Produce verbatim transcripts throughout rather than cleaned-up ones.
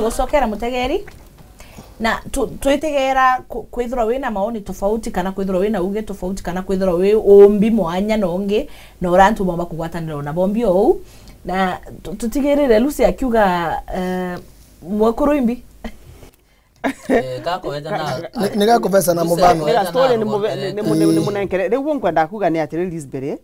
Gucokera mutegeri, na tu-, twitegera ku-, kwithirwa wina maoni tofauti, kana kwithirwa wina uge tofauti, kana kwithirwa wi umbi mwanya na ungi, na uria antu bomba kugwatanira na bombi o uu. Na tu-, tutigirire Lucy akiuga, eh, mwekuru imbi. Eh, gakobeca na Ni, ni gakobeca na Lucy mubano. Ira story ni munenkere. Ni, ni, ni, ni munenkere. Riu nkwenda kuga ni atiri, Lisbury,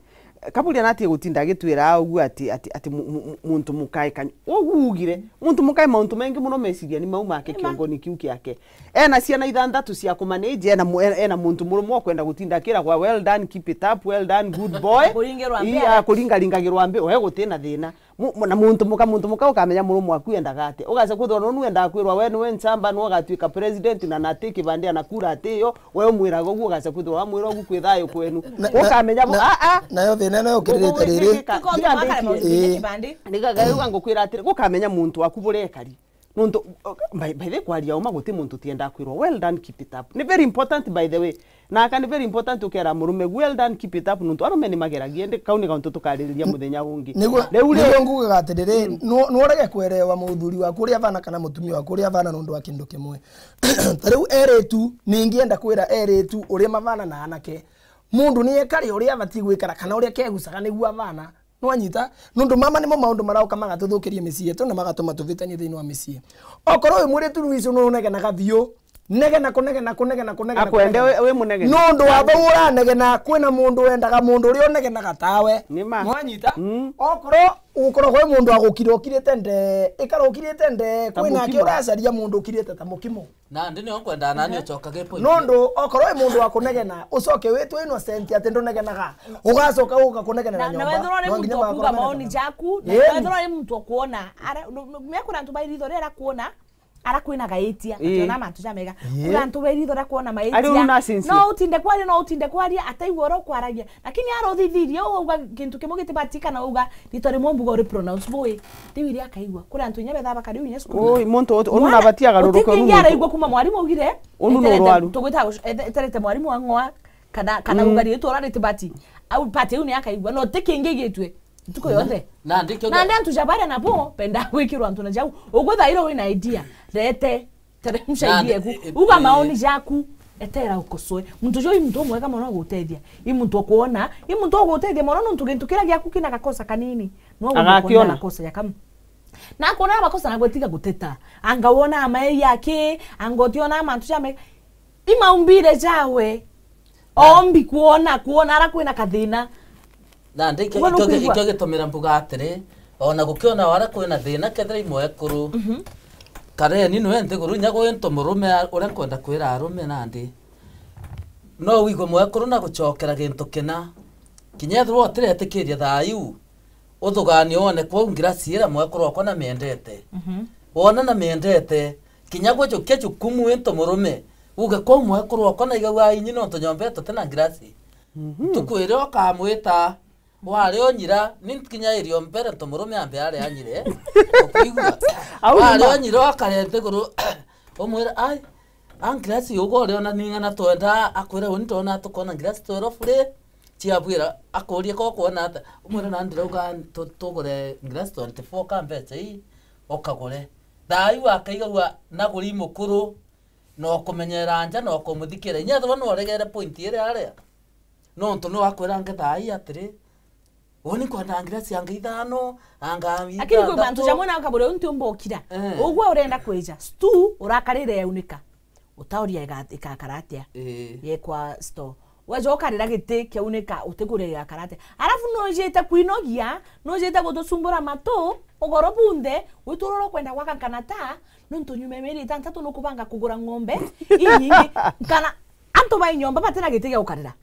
Kaburia natie gutinda agitwira uguo ati, ati, ati mu-, mu-, mu-, muntu mukae kanyu. Uguo ugire, muntu mukae mauntu mengi muno meciria ni mau make. Ni ma. Kiongoni kiu kiake. Ena ciana ithanthatu cia kumanage, ena mu-, ena, ena muntu murume ukwenda gutinda akiragwa, "Well done, keep it up, well done, good boy." Kuringirwa Ii, mbere. A, kuringaringagirwa mbi, we gutina thina. Mu-, mu-, na muntu muka, muntu muka ukamenya murume waku endaga atia. Ugaca kwithirwa nonu endaga kwirwa we niwe nchamba, niwe ugatuika president, na nati kibandi anakura ati yo, we umwiraga uguo, ugaca kwithirwa wamwira uguo kwi thayu kwenu. Na, na, ukamenya bu-, na, a, a. Nayo thina ino yukirite riri. Tuko-, tuko-, tuko-, Ii. Kibandi. Ni ga-, ga-, ga ngukwira atiri, gukamenya muntu waku burekari. Nontu, uh, by, by the way, kwaria uma guti muntu utiendaa kwirwa, "Well done, keep it up." Ni very important, by the way. Na aka ni very important ukera murume, "Well done, keep it up," nontu arume ni mageragia, indi kau ni kauntu tukaririria muthenya ungi. Niguo, riu ri- niguo ngugaga atiriri, mm, nu-, nu urege kwerewa muthuri waku uria avana kana mutumia waku uria avana nontu wa kindu kimwe. Ta riu eritu, ningienda kwira eritu uria mavana na anake. Mundu ni ekare uria abati gwikara kana uria kegucaga niguo avana. Nwanyita? Nontu mama nimo maundu marauka magatuthukiria micii yetu na magatuma tuvitanie thiini wa micii. Okorwo wi mwiritu Lucy nunegenaga biu, negena, kunegena, kunegena, kunegena, akwende kunegena. Wi, wi munegeni. Nontu wa bau uranegena, kwina mundu wendaga mundu uria unegenaga tawe. Ni ma. Nwanyita? Mm. Okorwo ukoragwo wi mundu wa gukira ukirite nde, ikara ukirite nde, ta kwina aki mukimo. Uracaria mundu ukirite ta mukimo. Nandi nio nkwendaa nani ucokage point. Nontu okorwo wi mundu wa kunegena, ucoke witwe innocent ati ndunegenaga, ugacoka uka kunegena na, na nyomba. Na wethirwa uri muntu wa kuuga maoni jaku, na wethirwa uri muntu wa kuona, ara, no, no, mea kuna antu ba iritho ria arakuona, arakwinaga itia, ati ona mantu jamega. Ii. Kuna antu ba iritho ria kuona maitia. No utinde kwaria, no utinde kwaria, ataigua uria ukwaragia. Lakini ara uthithirie, uu auga kintu kimwe gitibati kana auga rito rimwe mbuga uri pronounce bui. Riu iria akaigua. Kuri antu inya bethaa bakari inya cukuru. Ui, muntu uti-, unu nabatia agaruruke, unu muntu araigua kuma mwarimu augire, unu ni urwaru. Tugwita guc-, ete-, eterete mwarimu ang'oa, kana, kana, mm, uga ritwa ura ritibati. Au pati iu ni akaigua. No ti kingi gitwe. Ntuku yonthe. Na, na ndikio. Na ndi antu ja baria nabo, benda gwikirwa antu na jau. Ugwe thairo wina idea. Rete. Teremsha idea eku. Uga maoni jaku. Etera ukosoe. Muntu jo i muntu umwega mono gutethia. I muntu ukuona. I muntu ugutethia mono nontu gintu kiria giaku kina gakosa kanini. No agakiona gakosa ya kamu. Na akuona makosa na gwetiga guteta. Anga wona amai yake, anga utiona mantu ja me. I maumbire jawe. Ombi kuona, kuona ara kwina kathina. Nandi ikio, ikio, ikio gitumira mbuga atiri, ona gukiona ara kwina thina, kethira i mwekuru, mhm, kareni nwe nthiguru, inya gwintu murume a-, uria nkwenda kwira arume nandi. No wigwe mwekuru na gucokera gintu kina. Kinya ethirwa utiretikiria thayu, uthuganie wone kwou ngirasi iria mwekuru okwa na miendete. Mhm. Wona na miendete, kinya gwe jukia jukumu into murume, uge kwou mwekuru okwa na igagua inyi nontu nyomba yetu tina ngirasi. Mhm. Ntuku iria ukamwita, wari unyira, ni kinya irio mbere ntu murume ambe ari anyire. Ukuigua? Au ni wari ma. Unyira ukare nthiguru, umwire, "Ai, a ngirasi uga uri ona ning'ana twenda," akwire, "Uni ndona tukona ngirasi twero bure." Ciabwira, akurie ko kwona ata. Umwire, "Na ndirauga tu-, tugure ngirasi twenty-four ka mbeca ii, ukagure." Thayu akaigagua naguri mukuru, na ukumenyera nja, na ukumuthikira. Inya ethirwa nwaregere point iria aria. Nontu no akwira nge thayu atiri, uni nkwenda ngirasi anga ithano, anga. Lakini kwi mantu jamwe na ukabure unti umbokira. Eh. Ugwe urenda kwija. Stu urakarire yaunika. Utauria iga-, igakara atia? Ii. Yekwa store. Weja ukarira giti kiaunika, utigure igakara atia? Arafu nujite kwinogia, nujite gutucumbura matu, ugoro bunthe, witurura ukwenda gwaka nkanata, nontu nyuma ya mieri itantatu nukubanga kugura ng'ombe inyingi, kana antu bai nyomba batina giti gia gukarira.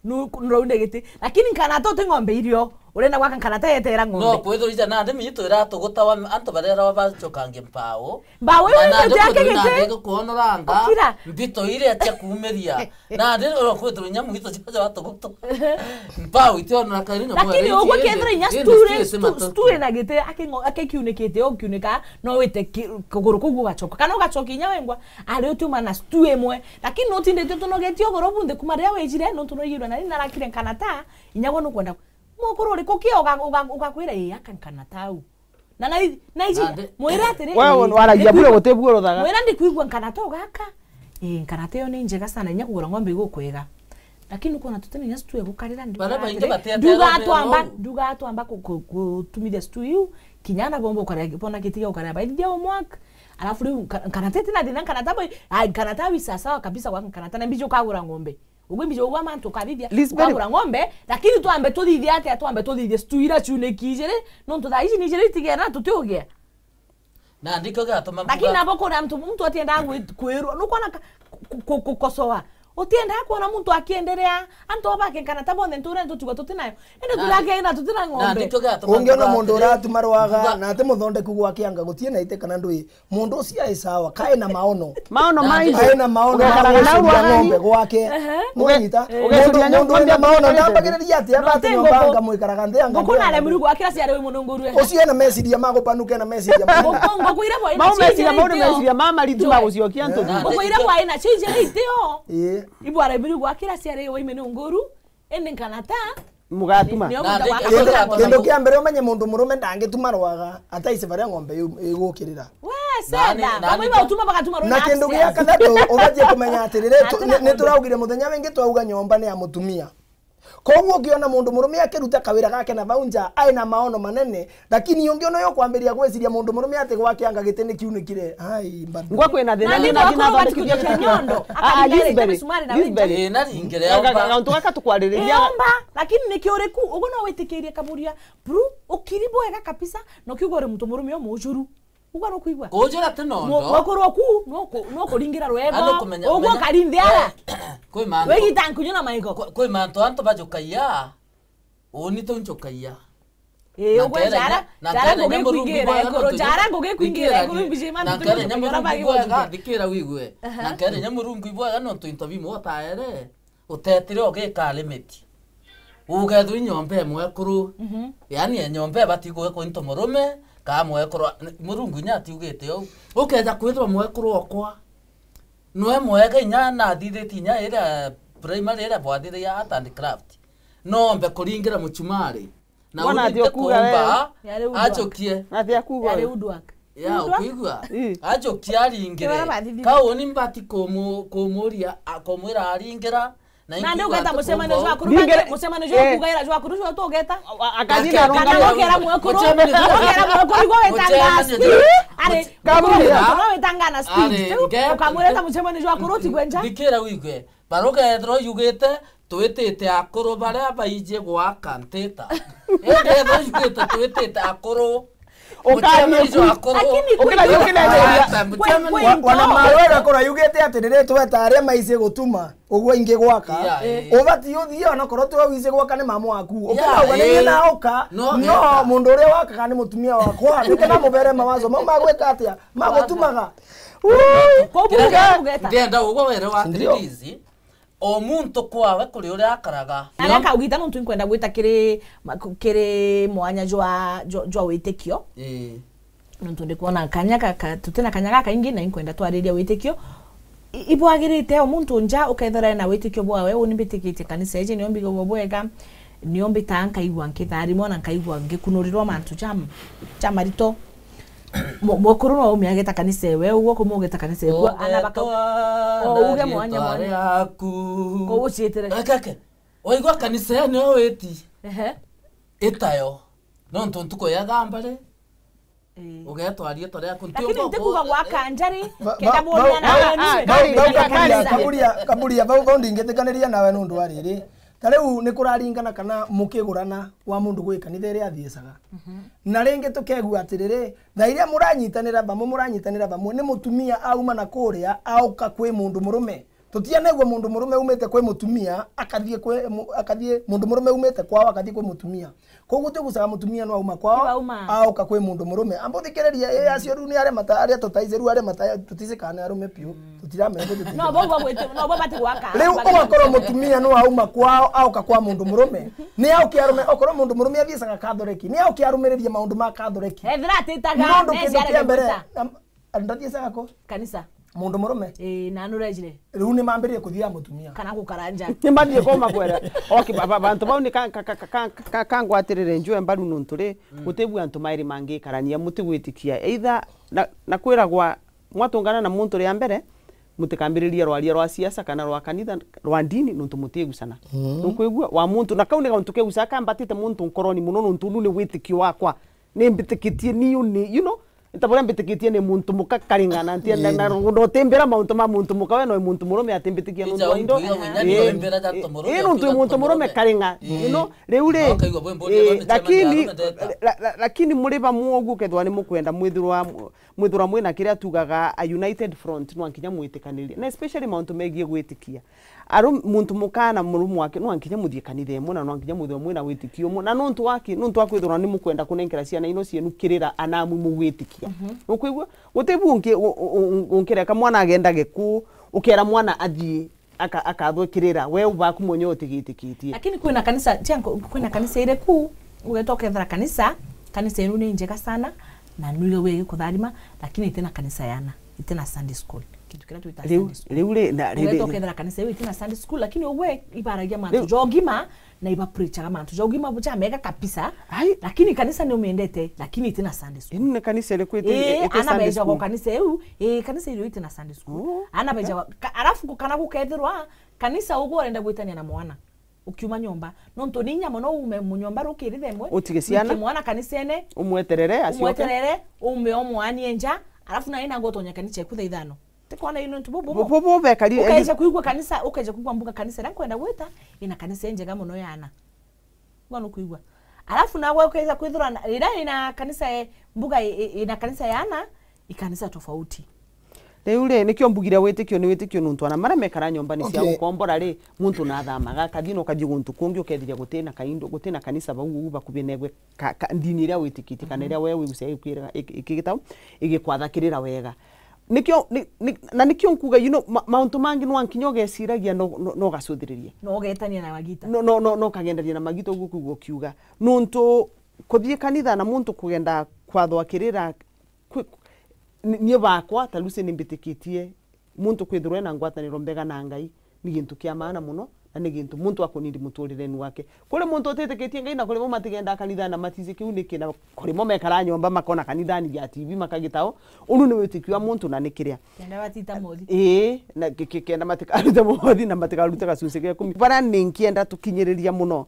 Nu-, nuraune giti. Lakini nkanata uti ng'ombe irio. Urenda gwaka nkanata yetera ng'ombe. No kwithirwa ija nandi mitu iratugutawa antu barera bacokangia mpao. Mpao iu na nandi ite yake kwithirwa giti. Nandi gukuonoranga. Ukira. Mbito iria cia kuumiria. Nandi oro kwithirwa inya mwito cia batugutu. Mpao itionora kairi na. Lakini ugwe kethira inya stu ri-, stu-, stu ina giti, aki ngo-, aki kiunikite, o kiunika, no wite ki-, kuguru kuu gugacoka. Kana ugacokia inya wengwa, ari utiuma na stu imwe. Lakini nutindite utunogetie ugoro bunthe kuma riria wijire, nontu nwaigirwe nani narakire nkanata, inya gwe nukwenda. Mukuru uriku ki uga-, uga-, ugakwira, "Ii, aka nkanata au." Na na na iji, mwira atiri, wewe waragia bure gutibuuruthaga. Mwira ndikwigua nkanata ugaka. Eh, nkanata iyo ni njega sana, inya kugura ng'ombe igukwega. Lakini ukona tutina inya stu egukarira, nduga atiri, nduga atwamba, nduga atwamba ku- ku- kutumithia stu iu, kinya na bomba ukarea, bona gitiga ukarea baithia homework. Alafu riu nka- nkanata itina thina, nkanata boy, ai, nkanata wi sawa sawa kabisa, wa nkanata na mbiji ukagura ng'ombe. Ugwe mbiji ugwa mantu ukathithia, Lisbeth, ukagura ng'ombe, lakini twambe tuthithie atia, twambe tuthithie stu ira ciuniki ijiri, nontu thaa ici ni ijiri itigena tutiugia. Na ndikio giatuma. Lakini nabo kuna mtu, mtu atiendaga kwi- kwirwa, nukwona ka- ku- ku- gukosoa. Utiendaga kuona muntu akienderea, antu abake kana ta bonthe nture ntutigwa tutinayo. Indi na- tuthake na tutina na ng'ombe. Ndikio giatuma. Ungiona muntu uratuma rwaga, na ati muthondeku gwake anga gutie na ite kana ndui. Mundu ucio ai sawa, kae na maono. Maono maingĩ. Kae na maono. Ugekaraga na gwiciria ng'ombe gwake. Ehe. Mwanyita? Uge- Mundu, ugecuria mundu wina maono, ndambagiriria ati abati nyomba anga mwikaraga nthi anga. Nguku na aremiri gwakira ciari wi mununguru. Ucio ena meciria ma gupanuka, ena meciria ma. Nguku, nguku ira bwa ina. Mau meciria mau ni meciria ma maritu ma gucokia ntugu. Nguku ira bwa ina cio ijiri itio. Ii. Ibu aremiri gwakira ciari wi mununguru. Indi nkanata. Mugatuma. Nio. Na muntu wa- kindu, kindu kia mbere umenye mundu murume ndangituma rwaga ataici baria ng'ombe iu igukirira. We, setha. Nani, nani. Bamwe bautuma bagatuma rwaga. Na kindu gia kathatu ubatie kumenya atiriri, tu- ni- nituraugire muthenya wingi twauga nyomba ni ya mutumia. Koguo ukiona mundu murume akiruta kawira gake na bau nja, ai na maono manene, lakini ungiona uyu kwambiria gwiciria mundu murume ati gwake anga giti ni kiunikire. Ai, mbadu. Ngwa kwina thina. Na ni ndio nginya akoro thondekithia batikujia kinya nyondo. Ah, ah, akaringa Lisbeth, misumari na Lisbeth. Ii, na ringire. Ega, omba. Gauntu gaka tukwariria. Omba, lakini niki uriku? Uguo no witikirie kaburia. Bru, ukiri bwega kabisa, no kiugo uri muntu murume umujuru. Uguo nukwigua? Kujura ti nondo. Mukuru oku, nuku- nukuringira rwego. Uguo karindiara. Kwi mantu. Wigita nkunyu na maigo. Kwi- kwi mantu antu bajukagia. Uni tu njukagia. Ii, uguo njara, njara ngugikwingira iguru, njara ngugikwingira iguru, mbiji mantu tu njukagia ora bagi gwajuka. Thikira wigue. Na nkere nya Murungu ibwega nontu into bimwe utaere, utetire ugikalimiti. Ugethwa i nyomba imwe ekuru. Mhm. Yaani e nyomba ibati gwikwa into murume, ka mwekuru, Murungu inya atiugite uu. Ukeja kwithirwa mwekuru okwa. Nwe mwega inya nathithitie inya iria primary iria bwathithagia art and craft. Nombe kuringira muchumari. Na wona ati ukuga we. Ajokie. Na ati akuga. Yari woodwork. Ya, ukuigua? Ii. Ajokie aringire. Kauni mbati kumu- kumuria, a- kumwira aringira. Na ndi ugeta mucemanio jwa akuru. Mucemanio jwa kugaira jwa akuru jwa tugeta. Akathina. Kana nokera mwekuru. Nokera mwekuru igwa wetanga Steve. Ari. Kamuria. Nokera wetanga na Steve. Ukamwireta mucemanio jwa akuru tigwenja. Ndikira wigwe. Barugethirwa yugite twitite akuru baria baiji gwaka ntita. Indi ethirwa yugite twitite akuru. Ukaria ku. Akuru. Lakini ukira yukina. Wana mawe gakora yugite ati riri tweta aria maiji gutuma ugwe ingi gwaka. Ubati uthie ona korwo twe wiji gwaka ni mamu waku. Ukirauga ni na uka. No, mundu uria wakaga ni mutumia wakwa. Nikana mubere mawazo mau magwika atia? Magutumaga. Ndienda ugwe were wa Trilizi. O muntu kwawe kuri uria akaraga. Na aria kaugita nontu inkwenda gwita kiri ma- ku- kiri mwanya jwa jwa, jwa witikio. Ii. Nontu ndikwona kanya ka- ka- tutina kanya gakaingi na inkwenda twariria witikio. I- ibwagirite o muntu nja ukethira ena witikio bwawe, uni mbitikitie kanisa iji nio mbigagwo bwega, nio mbitaa nkaigua nkitharimwa na nkaigua ngikunurirwa mantu ja ja marito. Mu- mukuru no umia ageta kanisa ewe, uguo kumugeta kanisa ewe, ana baka- o uge mwanya mwanya. Ko uciitire. Eke, eke. Waigua kanisa ene o witi. Ehe. Itayo. Nontu ntuku ya thambari. Ii. Ugetwa riitwa riaku. Lakini nti kuga gwaka njari, kenda muria na wenu. Kaburia, kaburia, bau, bau ndingitikaniria nawe nundu wa riri. Ta riu ni kuraringana kana mukigurana wa mundu gwi kanitha iria athiicaga. Mhm. Na ringi tukegua atiriri, thaa iria muranyitanira bamwe, muranyitanira bamwe, ni mutumia auma na kuria, auka kwi mundu murume. Tutianegua mundu murume umite kwi mutumia, akathie kwi mu-, akathie, mundu murume umite kwao, akathie kwi mutumia. Koguo tigucaga mutumia no auma kwao, auka kwi mundu murume. Ambuthikiririe, ii acio riu ni aria mata-, aria tutaici riu aria mata-, tuticikana ni arume piu. Mm. Tutiramenya ku tuti- No, bo, bo, gwete-, no, bo bati gwaka. Riu ugakorwo mutumia no auma kwao, auka kwa mundu murume. Ni auke arume, okorwo mundu murume athiicaga Kathoreki, ni auke arumiririe maundu ma Kathoreki. Ethira atitaga, nondu kindu kia mbere, am-, ndathiicaga ku? Kanisa. Mundu murume. Ii, na nurejire. Riu ni mambiririe kuthia mutumia. Kana gukaranja. Ni mbathie koma kwera. Okay, ba- ba- bantu bau ni ka- ka- ka- ka- ka- ka- kangwatirire njue mbaru nuntu ri, guti bu antu mairi mangikarania, mutigwitikia. Either na, na kwiragwa mwatungana na muntu ria mbere, mutikambiririe rwaria rwa siasa kana rwa kanitha, rwa ndini, nuntu mutigusana. Nukwigua? Wa muntu, na kau ni gauntu kegucaga kambatite muntu nkoroni muno, nuntu unu ni witikio wakwa. Ni mbitikitie ni uni, you know, nta buria mbitikitie ni muntu muka karinga na ntia na, na, na utimbira mauntu ma muntu muka, we no muntu murume atimbitikia nuntu wa indo. Ii, nuntu muntu murume karinga, you know, riu ri, ii, lakini, la- la- lakini muri bamwe uguo kethwa ni mukwenda mwithirwa, mwithirwa mwina kiria tugaga a united front, nwa nkinya mwitikanirie, na especially mauntu megie gwitikia. Aru-, muntu muka na murume wake, nwa nkinya muthie kanitha imwe, na nwa nkinya muthie mwina witikio umwe. Na nuntu waki, nuntu wa kwithirwa ni mukwenda kunenkera ciana ino cienu kirira anamu mugwitikia. Nukwigua? Guti bu unki-, u-, u-, u-, unkireka mwana agenda giku, ukera mwana athie, aka-, akathwe kirira, we ubaku mwenye utigitikitie. Lakini kwina kanisa, cia nko-, kwina kanisa iri ku, ugeta ukethira kanisa, kanisa inu ni njega sana, na nuiga wigi kutharima, lakini itina kanisa yana, itina Sunday school. Kintu kiria twita Sunday school. Riu ri, na, ri, ugeta ri, ukethira kanisa iu itina Sunday school, lakini ugwe ibaragia mantu ja ugima, na ibapreachaga mantu ja ugima ja mega kabisa. Ai. Lakini kanisa ni umiendete, lakini itina Sunday school. Inu ni kanisa iriku iti, ii, iti ana Sunday beja school? Go kanisa iu, ii, kanisa iu itina Sunday school. Oh. Ana beja, ka-, alafu kana gukethirwa kanisa ugwe urenda gwitania na mwana ukiuma nyomba. Nontu ni inya mono uume mu nyomba rukiri thaa imwe, utige ciana, wike mwana kanisene, umweterere, acioke, umweterere, uume omwanie nja, alafu nawe nangwa utonya kanisa eku thaa ithano. Tikona ino ntu bubu. Bubu bubekari. Ukeja kuigua kanisa, ukeja kuigua mbuga kanisa iria nkwenda gwita, ina kanisa injega mono ya ana. Bwana ukuigua. Alafu nawe ukeja kwithirwa na, iria ina kanisa e, mbuga i- i- ina kanisa ya ana, ikanisa tofauti. Riu ri, nikio mbugire witikio ni witikio nuntu ana maria mekara nyomba ni cia, okay, gukombora ri, muntu nathamaga, akathii na ukathii guntu kungi, ukethiria gutina kaindo, gutina kanisa bau uu bakuvi negwe ka, ka, ndini iria witikitie kana iria we wigucagia ikwiraga, iki-, ikigitau, igikwatha kirira wega. Nikio, ni, ni, na nikio nkuga, you know, ma, mauntu mangi nwa nkinya ugeciragia no, no, no ugacuthiriria. No ugetania na magita. No, no, no, no ukagendania na magita uguo kuigua ukiuga. Nuntu kuthii kanitha na muntu kugenda kwathwa kirira, kwi-, ni, nie bakwa, ta Lucy ni mbitikitie, muntu kwithirwa ena ngwataniro mbega na Ngai, ni gintu kia maana mono, na ni gintu muntu akunindi muturireni wake. Kuri muntu utitikitie Ngai na kuri bo matigendaa kanitha na matiji kiu niki, na kuri mo mekara nyomba makona kanithani ja T V makagitao, unu ni witikio wa muntu na ni kiria. Kenda batita mothi. Ii, na ki-, ki-, kenda matikarute mothi na matikarute gacunci ga ikumi. Bara ni nkienda tukinyiriria mono.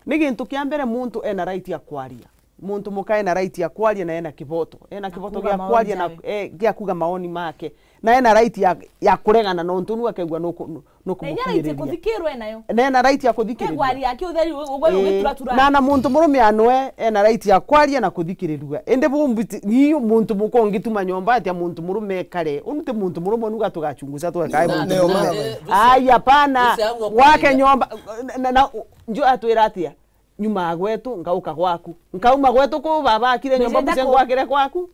Ni gintu kia mbere muntu ena right ya kwaria. Muntu muka ena right ya kwaria na ena kiboto. Ena kiboto gia kwaria na, eh, gia kuga maoni make. Na ena right ya, ya kuregana nontu nu akegua nuku-, nu-, nuku-, na inya right ya kuthikirwa enayo. Na ena right ya kuthikirwa. Kegwari yake utheri u-, ugwe, eh, ugituratura. Na, na muntu murume anwe ena right ya kwaria na kuthikirirua. Indi bu mbiti-, ni muntu muka ungituma nyomba atia muntu murume ekare. Unu ti muntu murume nuga tugachunguza tweka muntu murume. Ai, hapana. Wake nyomba, na, na, nju atwira atia? Nyuma gwetu, ngauka gwaku. Nkauma gwetu kuu baba akire nyomba, muce ngwakire kwaku.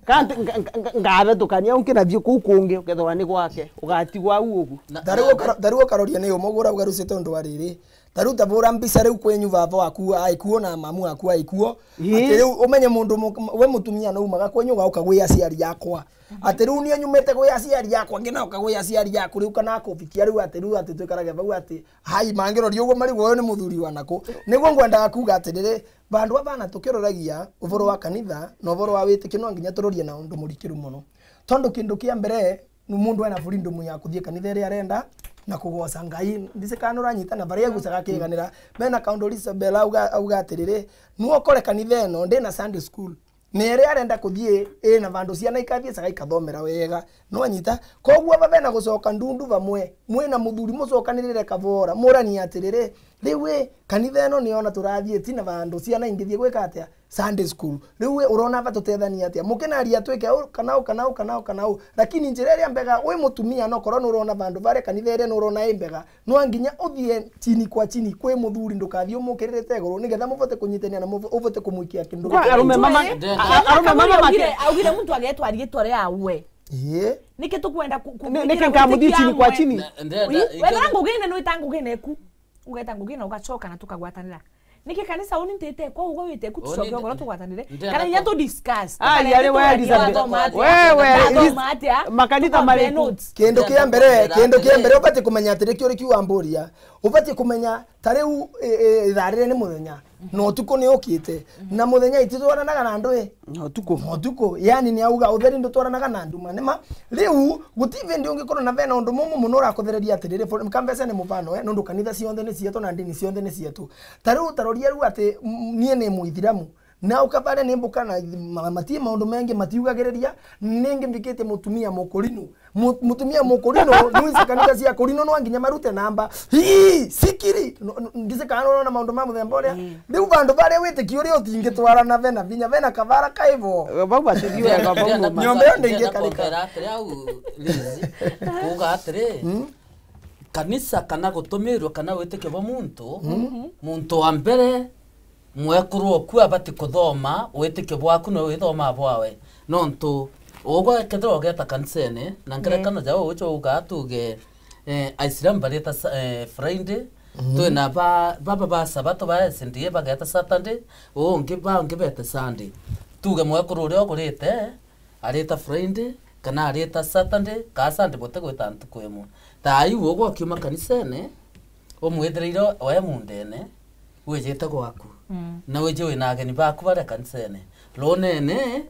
Kanti nga-, nga-, nga-, ngabetukania unki nathii kuu kungi, ukethirwa ni gwake, ugatigwa au ugu. Na, tariu na, ukaro-, tariu ukaroria ni umwe gura ugarucite undu wa riri. Tariu ta bura mbica riu kwenyu baba waku aikuo na mamu waku aikuo. Ii. Ati riu umenye mundu mu-, we mutumia no umaga kwenyu ugauka gwi aciari akwa. Ati riu nie nyumite gwi aciari akwa, ngina uka gwi aciari aku riu kana akubikia riu ati riu ati twikarage bau ati Hai, mangiroria uguo marigwo uyu ni muthuri wa naku. Niguo ngwendaga kuuga atiriri, bandu aba na tukiroragia uvoro wa kanitha na uvoro wa witikio, no nginya turorie na undu murikiru mono. Tondu kindu kia mbere, ni mundu ena freedom ya kuthii kanitha iria arenda na kugoca Ngai. Ndisi kana uranyita na baria egucaga akiganira. Bena kaundu Isabel auga, auga atiriri, "Nwe ukore kanitha ino ndina Sunday school." Na iria arenda kuthii ina vandu ciana ikathiecaga ikathomera wega. Nwanyita? Koguo aba bena gucoka ndundu bamwe, mwina muthuri mucokanirire kavora, muranie atiriri, "Riu ii, kanitha ino niona turathii tina vandu ciana ingithii gwika atia? Sunday school. Riu ii, urona aba tutethanie atia? Mukinaria atwike uu, kana uu, kana uu, kana uu, kana uu." Lakini njira iria mbega, wi mutumia, nokorwo nurona vandu varia kanitha iria nurona i mbega, no nginya uthie chini kwa chini kwi muthuri, ndukathie umukiririte iguru, nigetha muvote kunyitania na muvo-, uvote kumwikia kindu. Kwa arume mama, a-, a-, arume mama make. Augire, augire muntu agetwa riitwa riawe. Ii. Niki tukwenda ku-, ku-, ni-, niki nkamuthie chini kwa chini? Wethera ngugine nwita ngugine ku. Ugeta ngugine ugacoka na tukagwatanira. Niki kanisa uni ntite kwa ugo wite ku tucoke ugoro tugwatanire? Kana inya tu discuss. Ah, yari we Elizabeth. Wewe, makanitha mari ku? Kindu kia mbere, kindu kia mbere ubati kumenya atiri, kio uri kiuga mburia. Ubati kumenya ta riu, e, e, ithaa riri ni muthenya. Na utuku ni ukite. Na muthenya ititwaranaga na andu i. Na utuku. Na utuku. Yani ni auga utheri ndutwaranaga na nduma. Nima, riu, guti vindi ungikorwo na vena undu mumu muno urakuthereria atiriri, for, ka mbeca ni mufano, eh, nondu kanitha cionthe ni cietu na ndini cionthe ni cietu. Ta riu, ta roria riu ati, m-, nie ni Muithiramu. Na ukabaria ni mbuka na ma-, mati maundu mengi matiugagiriria, ningi mbikite mutumia mukurinu. Mu-, mutumia mukurinu, nuici kanitha cia kurinu no nginya marute namba. Hii, sikiri. No, no, ndise kana urona maundu ma muthemba uria. Riu vandu varia witikio uria utingitwarana vena vinya, vena kavara kaivo. Bau batithiaga bau no ma- Nyomba iyo ndingikarika. Kuuga atiri, kuuga atiri, kanisa kana gutumirwa kana witikio bwa muntu, muntu wa mbere, mwekuru oku abati kuthoma witikio bwaku na withomaa bwawe. Nontu ugwe kethirwa ugeta kanisene, na ngerekano ja uju uga tuge, eh, Aisilamu barita sa-, eh, Friday, twina ba, baba ba Sabato ba S D A bageta Saturday, ungi bangi bete Sunday. Tuge mwekuru uria ugurite, arita Friday, kana arita Saturday, kaa Sunday butigwita ntuku imwe. Thaa iu ugwe ukiuma kanisene, umwithireire we mundene, wijite gwaku. Na wiji wina ageni baku baria kanisene. Runene,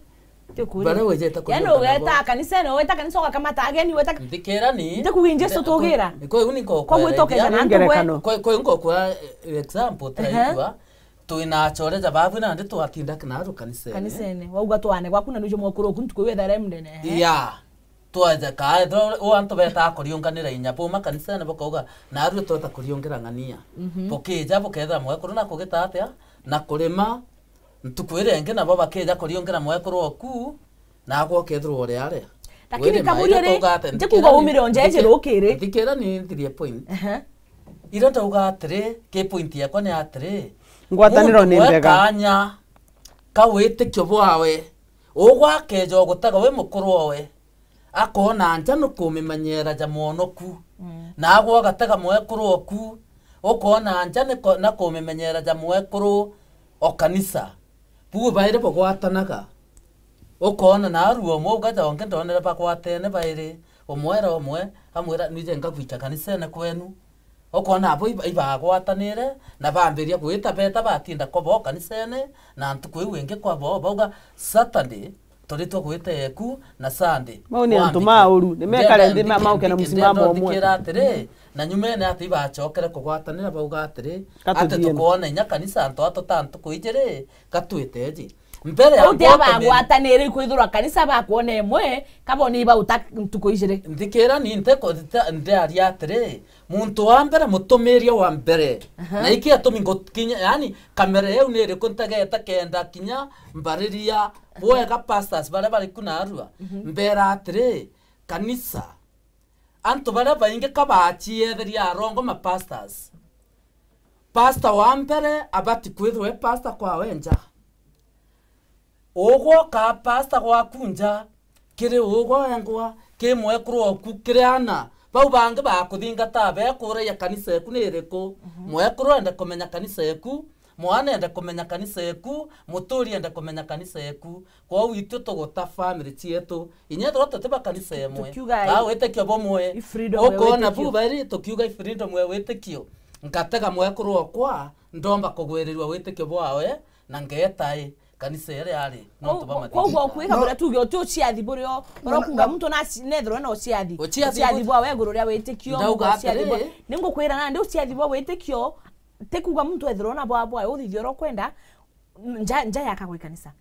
baria wijite kuriungana bo. Yani ugeta kanisene, ugeta kanisa ugakamata ageni, ugeta. Nthikira ni. Nti kuuga Jesu tugira. Kwa iu ni ngokwereria. Kwa gwitokeja na antu bwe. Kwa, kwa iu ngokwa, eh, example, turaigua. Twina achore ja babu nandi twatinda kinaru kanisene. Kanisene. Wauga twane gwaku na nujo mwekuru oku ntuku iu ethaira e mundene. Ehe. Ya. Twaja ka, ethirwa u antu betaga kuriunganira inya buma kanisene bukauga, narue tweta kuriungira ng'ania. Bukija bukethira mwekuru na kugita atia, na kurima, ntuku iria ingi nabo bakija kuriungira mwekuru oku, nagwe ukethirwa uri aria. Lakini kaburia ri, nti kuuga umire o nja iji rukiri. Thikira ni nthirie point. Ehe. Iria ndauga atiri, ki point yakwa ni atiri, ngwataniro ni mbega. Muntu we kanya ka witikio bwawe, ugwe akeja ugutega wi mukuru owe, akoona nja ni kumimenyera ja mwonoku. Nagwe ugatega mwekuru oku, ukoona nja ni ko-, na kumimenyera ja mwekuru o kanisa. Buu bairi bugwatanaga. Ukoona narua umwe ugaja ungi ndonere bagwatene bairi, umwe era umwe, amwira, "Nije ngagwicha kanisene kwenu." Ukoona abo iba-, ibagwatanire, na bambiria gwita beta batinda kwa bo kanisene, na ntuku iu ingi kwa bo, bauga, "Saturday, turitwe gwita eku, na Sunday." Mau ni antu ma uru, ni mekare nthi ma-, mauke na musimamo umwe. Ndenda nthikira atiri, na nyumene ati ibachokere kugwatanira, bauga atiri, ati tukoona inya kanisa antu atu ta ntuku ijiri, gatwite eji. Mbere ya uti abagwatanire kwithirwa kanisa bakwona imwe, kaboni bauta ntuku ijiri. Nthikira ni nte ko-, nte-, ndearia atiri, muntu wa mbere, mutumiria wa mbere. Na iki atumi ngukinya, yani, kamera iu ni iriku ntegete kenda kinya mbariria bwega pastors baria bari ku narua. Mbera atiri, kanisa, antu baria baingi ka bachietheria arongo ma pastors. Pastor wa mbere abati kwithirwa e pastor kwawe nja. Ugwe ukaa pastor gwaku nja, kiri ugwe wengwa, ki mwekuru oku, kiri ana. Bau bangi bakuthingataa bekuragia kanisa eku ni iriku. Mwekuru ende kumenya kanisa eku, mwana ende kumenya kanisa eku, muturi ende kumenya kanisa eku. Kwou itwe tuguta family cietu. Inya ethirwa tuti ba kanisa imwe. Tukiuga ka i-, witikio bumwe. I freedom ya witikio. Ukona bu bairi tukiuga i freedom ya witikio. Nkatega mwekuru okwa, ndomba kugwirirua witikio bwawe, na ngeeta i kanisa iria ari, nontu bwa mathithio. Koguo kwika buria tuge uti uciathi burio, urokuga muntu na ci-, nethirwe na uciathi. Uciathi bwawe iguru ria witikio, ndauga uciathi bwa-, atiri, ningukwira nandi uciathi bwa witikio, ti kuga muntu ethirwe na bwa, bwa uthithio uria ukwenda, nja, nja yakagwa ikanisa.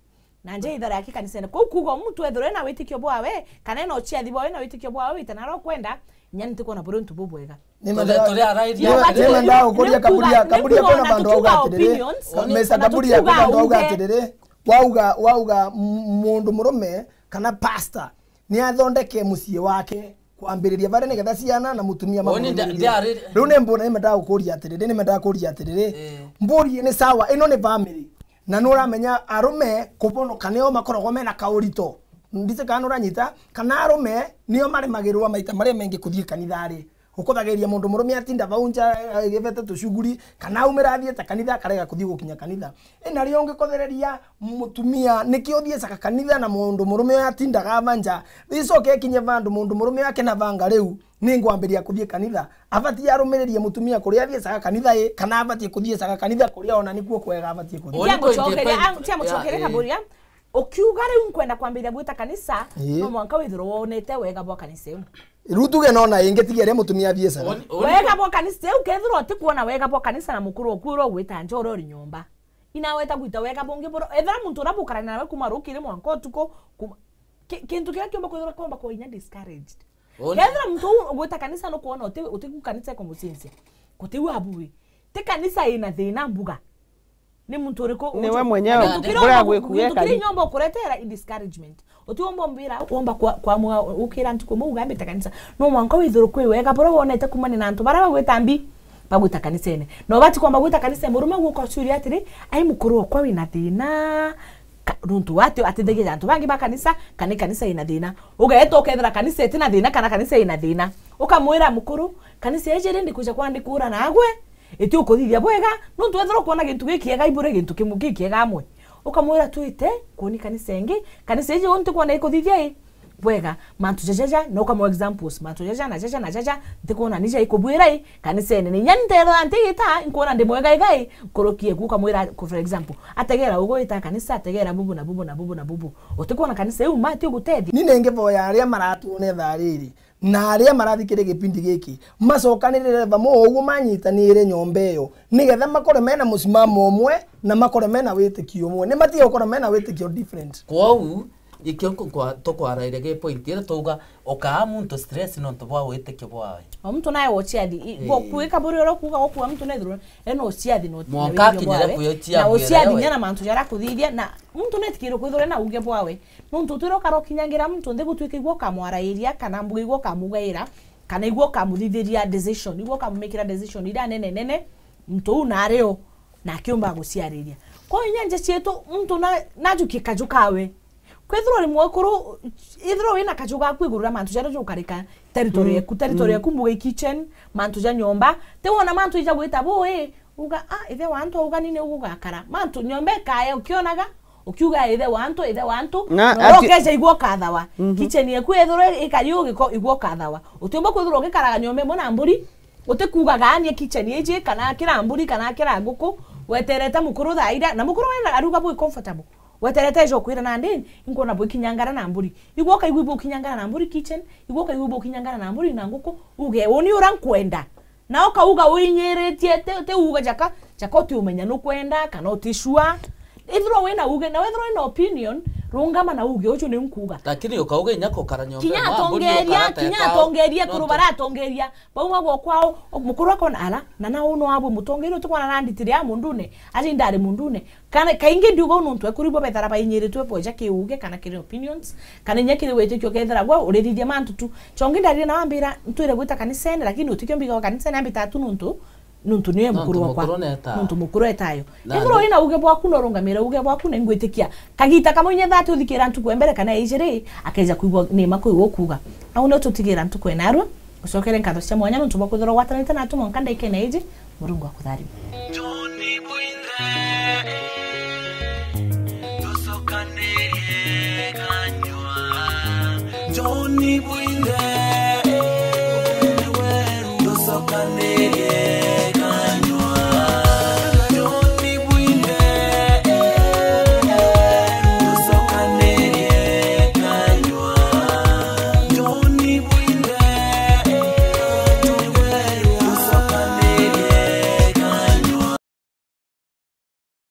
Na nja ithara yaki kanisene. Kou kuga muntu ethirwe na witikio bwawe, kana ena uciathi bwawe na witikio bwawe, wite naro kwenda, inya ntikwona buri untu bubwega. Ni menda-, turi arairia. Ni menda gukuria kaburia, kaburia kwina bandu bauga atiriri. Mesa kaburia kwina bandu bauga atiriri. Wauga, wauga m-, mundu murume kana pastor ni athondeke mucii wake. Kwambiriria baria nigetha ciana na mutumia mamwirire. Riu ni mbona nimendaga gukuria atiriri, nimendaga kuria atiriri. Mburi ni sawa, ino ni family. Na nuramenya arume kubonoka nio makoragwo mena kaurito. Ndise kana nuranyita, kana arume nio maremagirwa maita maria mengi kuthii kanithari. Ukuthagiria mundu murume atinda vau nja, eh, agivete tushuguri, kana aumira athiite kanitha, akarega kuthii gukinya kanitha. Ina rio ungikothereria mutumia, niki uthiicaga kanitha na mundu murume uyu atindaga ava nja? Icoke ikinye vandu mundu murume uyu akenavanga, riu ningwambiria kuthii kanitha. Abatie arumiririe mutumia kuria athiicaga kanitha i, kana abatie kuthiicaga kanitha kuria ona nikuo kwega abatie kuthii? Uni Tia mucokeria, point, ah, tia mucokeria ya, eh. Kaburia. Ukiuga riu nkwenda kwambiria gwita kanisa, ii, no mwanka withirwe wonete wega bwa kanisa iu. Riu tuge nona ingi tiga iria mutumia athiicaga. Uni, uni Wega bwa kanisa iu, kethirwa utikuona wega bwa kanisa na mukuru oku uria ugwita nja uria uri nyomba. Inaweta gwita wega bungi buru. Ethira muntu uria bukarania nawe kuma rukiri mwanka utuku, kuma, ki-, kintu kiria kiumba kwithirwa kiumba kwa inya discouraged. Uni Kethira muntu uu ugwita kanisa nukwona uti-, utiku kanisa ikumucinzia. Gutiu abu wi. Ti kanisa ina thina mbuga. Ni muntu uriku? Niwe mwenyewe. Gintu kiria uria umba, gwikuega gintu kiria kari. Inya umba ukuretera i discouragement. Utiumba umbira, umba kwa, kwa mwa, ukira ntuku imwe ugambite kanisa. No mwanka withirwe kwi wega buria wonete kumania na antu baria bagwita mbi, bagwita kanisene. Na ubati kwamba gwita kanisa, murume guka uciuria atiri, "Ai, mukuru okwa wina thina?" Ka-, nuntu wati atithagia antu bangi ba kanisa, kana kanisa ina thina. Ugeeta ukethira kanisa itina thina, kana kanisa ina thina. Ukamwira, "Mukuru, kanisa iji ri ndikuja kwa ndikura nagwe?" Iti ukuthithia bwega, nuntu wethirwa ukwona gintu gikiega ibure gintu kimwe gikiega amwe. Ukamwira, "Twite kuoni kanisa ingi, kanisa iji uu ntikwona ikuthithia i bwega mantu jajaja," na ukamwa examples, "Mantu jaja na jaja na jaja, ntikwona ni ja ikubwira i kanisene. Ni inya nterwa ntigita, nkwona ndi mwega iga i nkuruki eku." Ukamwira, for example, ategera ugwita kanisa, ategera bubu na bubu na bubu na bubu. Utikwona kanisa iu ma ti ugutethia? Ni ningi boya aria maratwona ithaa riri. Na aria marathikire gipindi giki, macokanirire vamwe o uguo manyitanire nyomba iyo, nigetha makorwe mena musimamo umwe na makorwe mena witikio umwe. Ni matige gukorwa mena witikio different. Kwou, ikio nkwa-, tukwaraire gi point iria twauga, ukaa muntu stress nontu bwa witikio bwawe. O muntu nae uciathi, i-, Ii. gwo-, kwika buri uria kuuga gukua muntu nethirwe ena uciathi na uti-, na Mwanka witikio akinyire bwawe, kwitia na bwire uciathi we. Nya na mantu jaria akuthithia, na muntu netikirwe kwithirwa ena uge bwawe. Nontu utwire ukara ukinyangira muntu nthi gutwika igwe ukamwarairia, kana mbuga igwe ukamugaira, kana igwe ukamuthithiria decision, igwe ukamumikira decision iria nene nene, muntu uu nari o, na akiumba guciariria. Kwa inya nja cietu, muntu na, najukie kaju kawe. Kwithirwa uri mwekuru, ithirwa wina kaju gaku iguru ria mantu jaria jukarika territory Mm, yeku, territory mm. yeku mbuga i kitchen, mantu ja nyomba, ti wona mantu ija gwita bui, uga, "Ah, ithe wa antu auga nini ugugakara." Mantu nyomba ikaya ukionaga, ukiuga, "Ithe wa antu, ithe wa antu." Na Na ati- ukeja igua ukathawa. Mhm. Kitchen yeku ethirwa ikari ugiko igua ukathawa. Utiumba kwithirwa ugikaraga nyomba imwe na mburi, utikuugaga, "Anie kitchen iji, kana kira mburi, kana kira nguku, weterete mukuru thaa iria." Na mukuru wena aruga bwi comfortable. Weterete ejo kwira nandi, inkwona bwikinyangara na mburi. Igua ukaigua ibukinyangara na mburi kitchen, igua ukaigua ibukinyangara na mburi na nguku, uge, "Uni ura nkwenda." Na ukauga uinyiritie, ti, ti uga jaka, jaka utiumenya nukwenda, kana uticua. Ithirwa wina uge, na wethirwa wina opinion, rungama na uge, "Uju niu nkuuga." Lakini ukauga inya kukara nyomba Kinya imwe, mburi atongeria, ukara kinya teka, atongeria, no kuru to- bara atongeria. Bauma gwo kwao, o, mukuru akona, "Ala, na na uno abwe mutongeria utikwana na nditire ya mundune, aja indari mundune." Kana, kaingi ndiuga uu nontu ekuru ibo bethara bainyiritwe boja ki uge kana kiri opinions, kana inya kiri witikio kethira gwe urithithia mantu tu. Chongi ndarire na wambira, "Ntwire gwita kanisene, lakini utikio mbiga wa kanisene ambita tu nontu, nontu niwe Nontu mukuru wakwa." mukuru neta. Nontu mukuru etayo. Na Ethirwa ndi- wina uge bwaku, no urungamire uge bwaku, na ingwitikia. Kagita kamwe inya thati uthikira ntuku ya mbere kana ya ijiri, akeja kwigua ni ma kwi gukuuga. Au nio tutigira ntuku ya narua. Ucokere nkatho cia mwanya nontu bwa kwithirwa ugwatanite natu mwanka ndaikene iji. Murungu akutharime. Johnny Bwinthe, tucokanirie kanyua. Johnny Bwinthe, weru, tucokanirie